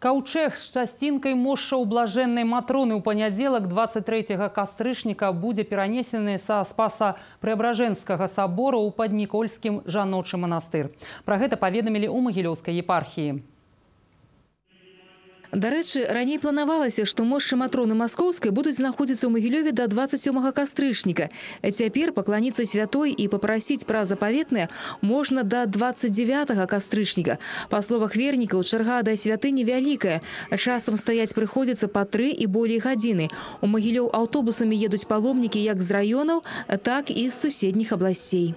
Каўчэг з часцінкай мошчаў блажэннай Матроны ў панядзелак 23 кастрычніка будзе перанесены са Спаса Преображенскага сабора ў Паднікольскім жаночы манастыр. Пра гэта паведамілі ў Магілёўскай епархіі. Дарэчы, раней планавалася, што мошчы Матроны Маскоўскай будуць знаходзіцца ў Магілёве да 27 кастрычніка. Цяпер пакланіцца святой і папрасіць пра запаветнае можна да 29 кастрычніка. Па словах вернікаў, чарга да святыні вялікая. Часам стаяць прыходзіцца па 3 і болей гадзіны. У Магілёў аўтобусамі едуць паломнікі як з раёнаў, так і з суседніх абласцей.